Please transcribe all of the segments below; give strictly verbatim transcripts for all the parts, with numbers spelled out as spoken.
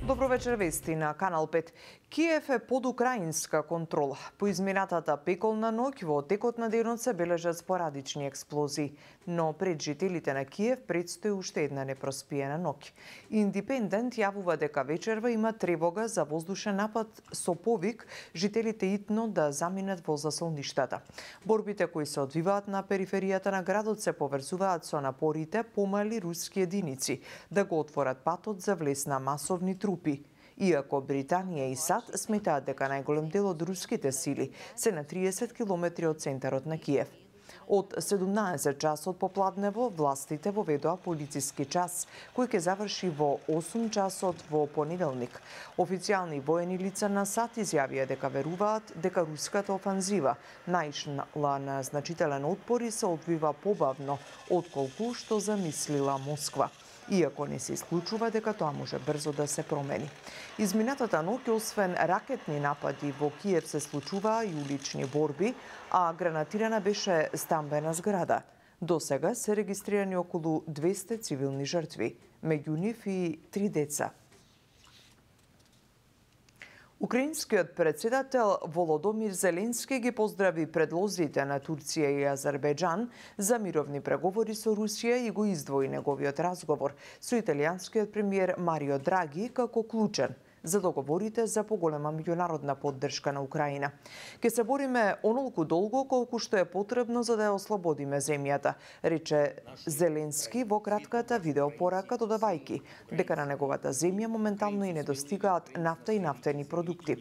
Добро вечер, вести на Канал пет. Киев е под украинска контрола. По изминатата пеколна ноќ во текот на денот се бележат спорадични експлозии, но пред жителите на Киев предстои уште една непроспиена ноќ. Индепендент јавува дека вечерва има тревога за воздушен напад со повик жителите итно да заминат во засолништата. Борбите кои се одвиваат на периферијата на градот се поврзуваат со напорите помали руски единици да го отворат патот за влез на масовни трупи. Иако Британија и САД сметаат дека најголем дел од руските сили се на триесет километри од центарот на Киев. Од седумнаесет часот попладнево властите воведоа полициски час, кој ќе заврши во осум часот во понеделник. Официјални воени лица на САД изјавија дека веруваат дека руската офанзива наишла на значителен отпор и се одвива побавно отколку што замислила Москва. Иако не се исклучува дека тоа може брзо да се промени. Изминатата ноќ, освен ракетни напади, во Киев се случуваа и улични борби, а гранатирана беше стамбена зграда. До сега се регистрирани околу двесте цивилни жртви, меѓу нив и три деца. Украинскиот председател Володомир Зеленски ги поздрави предлозите на Турција и Азербејџан за мировни преговори со Русија и го издвои неговиот разговор со италијанскиот премиер Марио Драги како клучен за договорите за поголема меѓународна поддршка на Украина. Ке се бориме онолку долго колку што е потребно за да ја ослободиме земјата, рече Зеленски во кратката видеопорака, додавајќи дека на неговата земја моментално и недостигаат нафта и нафтени продукти.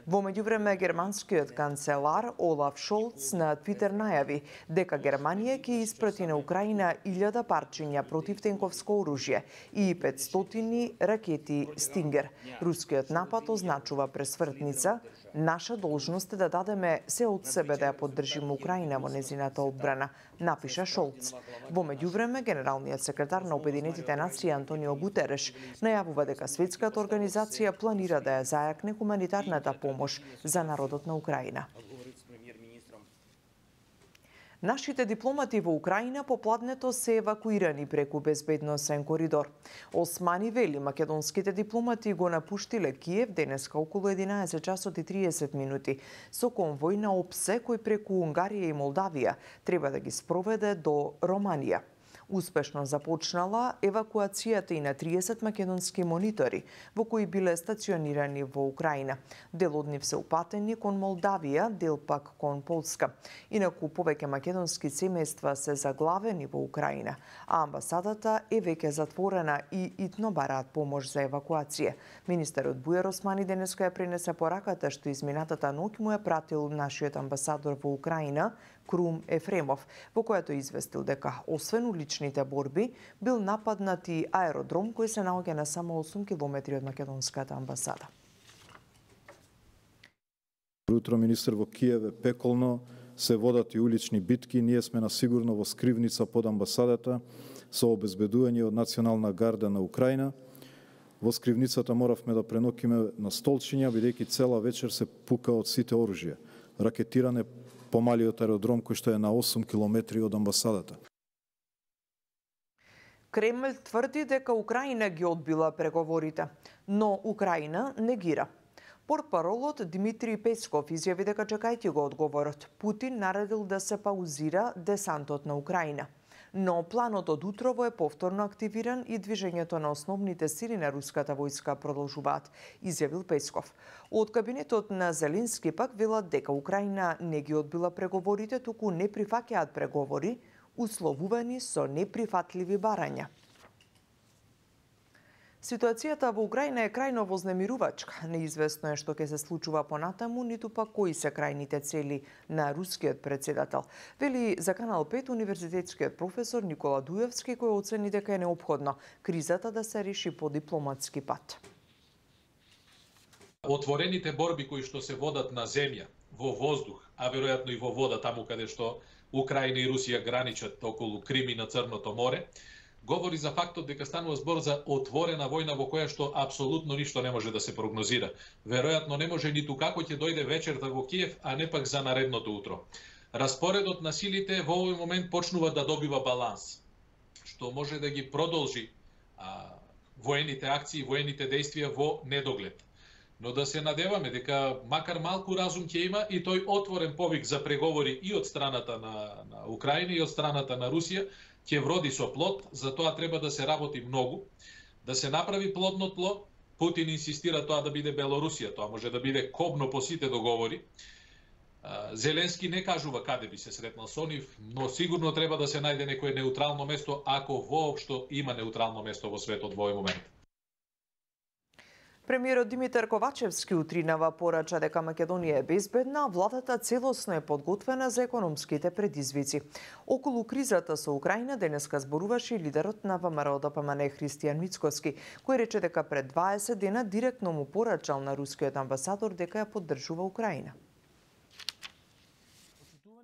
Во меѓувреме германскиот канцелар Олаф Шолц на Твитер најави дека Германија ќе испрати на Украина илјада парчиња противтенковско оружје и петстотини ракети Стингер. Рускиот напад означува пресвртница. Наша должност е да дадеме се од себе да ја поддржиме Украина во незината одбрана, напиша Шолц. Во меѓувреме, генералниот секретар на Обединетите нации Антонио Гутереш најавува дека светската организација планира да ја зајакне хуманитарната помош за народот на Украина. Нашите дипломати во Украина попладнето се евакуирани преку безбедносен коридор. Османи вели, македонските дипломати го напуштиле Киев денеска околу единаесет часот и триесет минути со конвој на ОПСЕ кој преку Унгарија и Молдавија треба да ги спроведе до Романија. Успешно започнала евакуацијата и на триесет македонски монитори, во кои биле стационирани во Украина. Дел од нив се упатени кон Молдавија, дел пак кон Полска. Инаку повеќе македонски семејства се заглавени во Украина, а амбасадата е веќе затворена и итно бараат помош за евакуација. Министерот Бујар Османи денеска ја пренесе пораката што изминатата ноќ му ја пратил нашиот амбасадор во Украина, Крум Ефремов, во којато известил дека, освен уличните борби, бил нападнат и аеродром кој се наоѓа на само осум километри од македонската амбасада. Утро, министер, во Киев е пеколно, се водат и улични битки, ние сме на сигурно во скривница под амбасадата со обезбедување од Национална гарда на Украина. Во скривницата моравме да пренокиме на столчиња, бидејќи цела вечер се пука од сите оружје. Ракетиране помалиот аеродром кој што е на осум километри од амбасадата. Кремљ тврди дека Украина ги одбила преговорите, но Украина негира. Портпаролот Дмитрий Песков изјави дека чекајќи го одговорот, Путин наредил да се паузира десантот на Украина. Но планот од утрово е повторно активиран и движењето на основните сили на руската војска продолжуваат, изјавил Песков. Од кабинетот на Зеленски пак велат дека Украина не ги одбила преговорите, туку не прифаќаат преговори, условувани со неприфатливи барања. Ситуацијата во Украина е крајно вознемирувачка. Неизвестно е што ќе се случува понатаму, ниту пак кои се крајните цели на рускиот председател. Вели за Канал пет универзитетскиот професор Никола Дуевски, кој оцени дека е неопходно кризата да се реши по дипломатски пат. Отворените борби кои што се водат на земја, во воздух, а веројатно и во вода таму каде што Украина и Русија граничат околу Крим и на Црното море, говори за фактот дека станува збор за отворена војна во која што апсолутно ништо не може да се прогнозира. Веројатно не може ниту како ќе дојде вечерта во Киев, а не пак за наредното утро. Распоредот на силите во овој момент почнува да добива баланс, што може да ги продолжи а, воените акции, воените действија во недоглед. Но да се надеваме дека макар малку разум ќе има и тој отворен повик за преговори и од страната на, на Украина и од страната на Русија ќе вроди со плод, за тоа треба да се работи многу, да се направи плодно тло. Путин инсистира тоа да биде Белорусија, тоа може да биде кобно по сите договори. Зеленски не кажува каде би се сретнал со нив, но сигурно треба да се најде некое неутрално место, ако воопшто има неутрално место во светот во овој момент. Премиерот Димитар Ковачевски утринава порача дека Македонија е безбедна, а владата целосно е подготвена за економските предизвици. Околу кризата со Украина денеска зборуваше лидерот на ВМРО Д П М Н Христијан Мицкоски, кој рече дека пред дваесет дена директно му порачал на рускиот амбасадор дека ја поддржува Украина.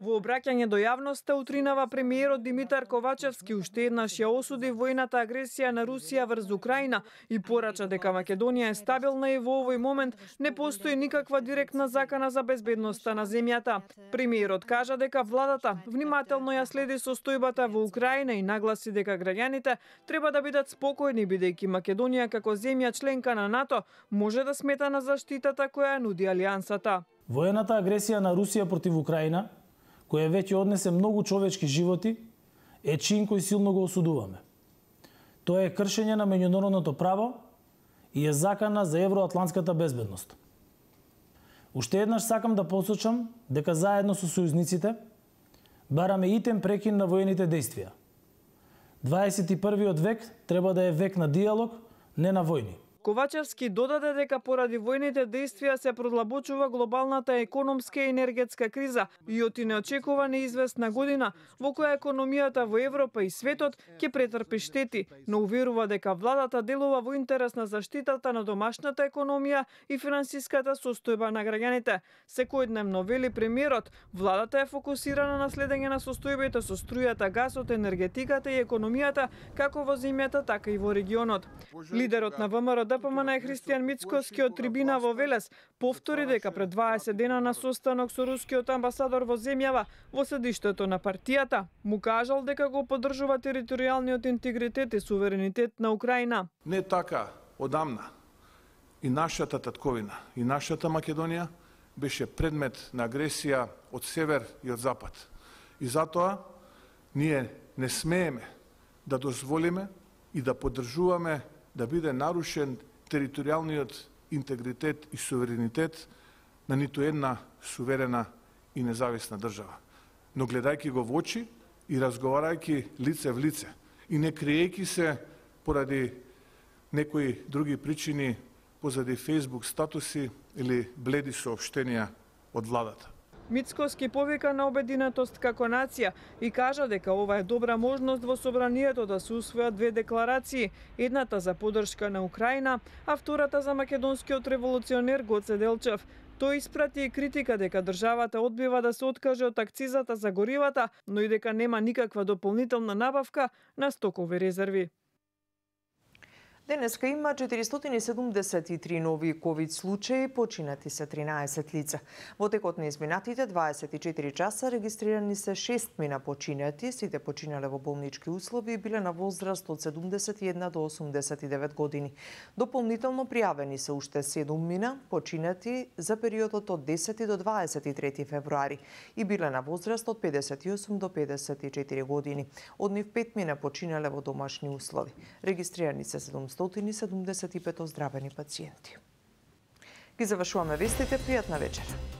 Во обраќање до јавноста утринава премиерот Димитар Ковачевски уште еднаш ја осуди војната агресија на Русија врз Украина и порача дека Македонија е стабилна и во овој момент не постои никаква директна закана за безбедноста на земјата. Премиерот кажа дека владата внимателно ја следи состојбата во Украина и нагласи дека граѓаните треба да бидат спокојни бидејќи Македонија како земја членка на НАТО може да смета на заштитата која нуди алијансата. Војната агресија на Русија против Украина, која веќе однесе многу човечки животи, е чин кој силно го осудуваме. Тоа е кршење на меѓународното право и е закана за евроатлантската безбедност. Уште еднаш сакам да посочам дека заедно со сојузниците бараме итен прекин на воените действија. дваесет и првиот век треба да е век на диалог, не на војни. Ковачевски додаде дека поради војните действија се продлабочува глобалната економска и енергетска криза и оти не очекува неизвестна година во која економијата во Европа и светот ќе претрпи штети, но уверува дека владата делува во интерес на заштитата на домашната економија и финансиската состојба на граѓаните. Секојдневно, вели премиерот, владата е фокусирана на следење на состојбите со струјата, гасот, енергетиката и економијата како во земјата, така и во регионот. Лидерот на ВМРО Д П М Н Христијан Мицкоски од трибина во Велес повтори дека пред дваесет дена на состанок со рускиот амбасадор во земјава во седиштето на партијата му кажал дека го поддржува територијалниот интегритет и суверенитет на Украина. Не така одамна и нашата татковина и нашата Македонија беше предмет на агресија од север и од запад. И затоа ние не смееме да дозволиме и да поддржуваме да биде нарушен територијалниот интегритет и суверенитет на ниту една суверена и независна држава. Но гледајќи го во очи и разговарајќи лице в лице и не криејќи се поради некои други причини, позади Facebook статуси или бледи соопштенија од владата. Мицкоски повика на обединетост како нација и кажа дека ова е добра можност во собранието да се усвојат две декларации, едната за поддршка на Украина, а втората за македонскиот револуционер Гоце Делчев. Тој испрати и критика дека државата одбива да се откаже од акцизата за горивата, но и дека нема никаква дополнителна набавка на стокови резерви. Денеска има четиристотини и седумдесет и три нови ковид случаи, починати се тринаесет лица. Во текот на изминатите дваесет и четири часа регистрирани се шест мина починати, сите починале во болнички услови и биле на возраст од седумдесет и една до осумдесет и девет години. Дополнително пријавени се уште седум мина починати за периодот од десети до дваесет и трети февруари и биле на возраст од педесет и осум до педесет и четири години. Од нив пет мина починале во домашни услови. Регистрирани се седумстотини и седумдесет и пет оздравени пациенти. Ги завршуваме вестите, пријатна вечер.